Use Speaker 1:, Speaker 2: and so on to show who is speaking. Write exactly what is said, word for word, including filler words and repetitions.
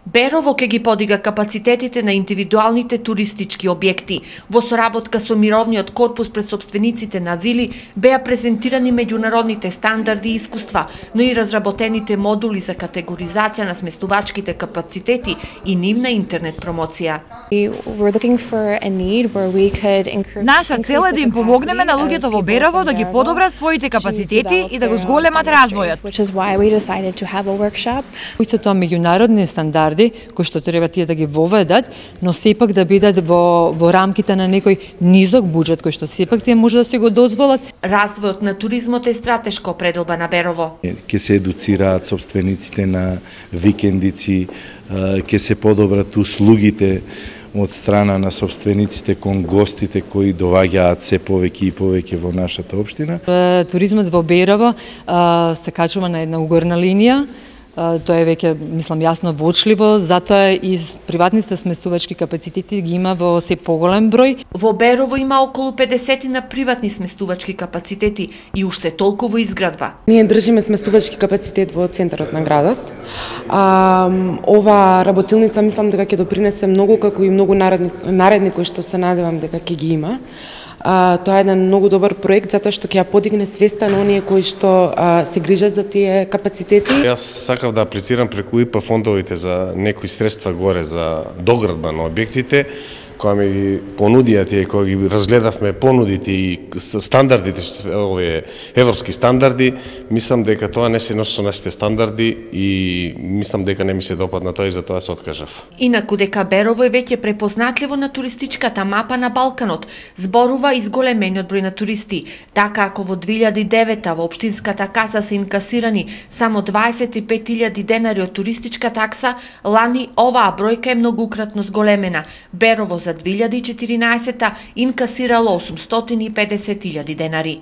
Speaker 1: Берово ќе ги подига капацитетите на индивидуалните туристички објекти. Во соработка со Мировниот корпус пред сопствениците на вили беа презентирани меѓународните стандарди и искуства, но и разработените модули за категоризација на сместувачките капацитети и нивна интернет промоција.
Speaker 2: Наша цел е да им помогнеме на луѓето во Берово да ги подобрат своите капацитети и да го зголемат развојот.
Speaker 3: Кои се тоа меѓународни стандарди кои што треба тие да ги воведат, но сепак да бидат во во рамките на некој низок буџет кој што сепак тие може да се го дозволат.
Speaker 1: Развојот на туризмот е стратешко пределба на Берово.
Speaker 4: Ќе се едуцираат сопствениците на викендици, ќе се подобрат услугите од страна на сопствениците кон гостите кои доаѓаат се повеќе и повеќе во нашата општина.
Speaker 3: Туризмот во Берово се качува на една угорна линија. Тоа е веќе, мислам, јасно воочливо, затоа и приватните сместувачки капацитети ги има во се поголем број.
Speaker 1: Во Берово има околу педесет на приватни сместувачки капацитети и уште толку во изградба.
Speaker 5: Ние држиме сместувачки капацитет во центарот на градот. А, ова работилница мислам дека ќе допринесе многу, како и многу наредни, наредни кои што се надевам дека ќе ги има. А, тоа е еден многу добар проект затоа што ќе ја подигне свеста на оние кои што а, се грижат за тие капацитети.
Speaker 6: Јас сакав да аплицирам преку И П фондовите за некои средства горе за доградба на објектите, која ми ги понудија тие, кои ги разгледавме понудите и стандардите, овие европски стандарди, мислам дека тоа не се носи со нашите стандарди и мислам дека не ми се допадна тоа и затоа се откажав.
Speaker 1: Инаку дека Берово е веќе препознатливо на туристичката мапа на Балканот, зборува и зголемениот број на туристи. Така ако во две илјади и девета во општинската каса се инкасирани само дваесет и пет илјади денари од туристичка такса, лани оваа бројка е многукратно зголемена. Берово за две илјади и четиринаесета инкасирало осумстотини и педесет илјади денари.